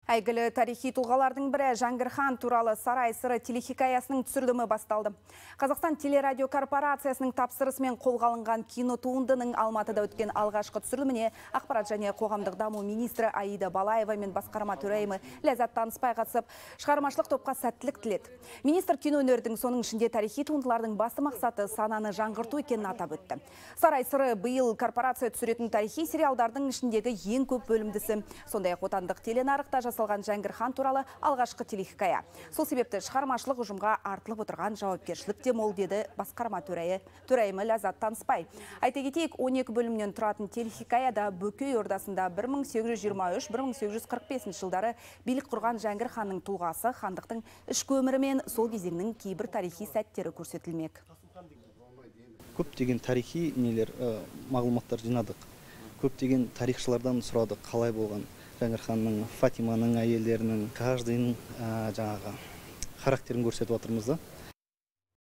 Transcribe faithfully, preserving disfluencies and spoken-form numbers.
Әйгілі тарихи тұлғалардың бірі Жәңгір хан туралы Сарай сыры телехикаясының түсірілімі басталды. Қазақстан телерадио корпорациясының тапсырысымен қолға алынған кинотуындының Алматыда өткен алғашқы түсіріліміне ақпарат және қоғамдық даму министрі Аида Балаева мен басқарма төрайымы Ләззат Танысбай қатысып, шығармашылық топқа сәттілік тіледі. Министр кино өнердің, соның ішінде тарихи туындылардың басты мақсаты сананы жаңғырту екенін атап өтті. Сарай сыры биыл корпорация түсіретін тарихи сериалдардың ішіндегі ең көп бөлімдісі. Сондай-ақ отандық теленарықта жасалған Жәңгір хан туралы алғашқы телехикая. Сол себепті шығармашылық ұжымға артылып отырған жауапкершілік те мол, деді басқарма төрайымы Ләззат Танысбай. Айта кетейік, он екі бөлімнен тұратын телехикаяда Бөкей ордасында бір мың сегіз жүз жиырма үш — бір мың сегіз жүз қырық бесінші жылдары билік құрған Жәңгір ханның тұлғасы, хандықтың ішкі өмірі мен сол кезеңнің кейбір тарихи сәттері көрсетілмек. Көптеген тарихи нелер, мағлұматтар жинадық. Көптеген тарихшылардан сұрадық, қалай болған Жәңгір ханның, Фатиманың әйелдерінің, каждыйның жаңағы характерін көрсетіп отырмыз да.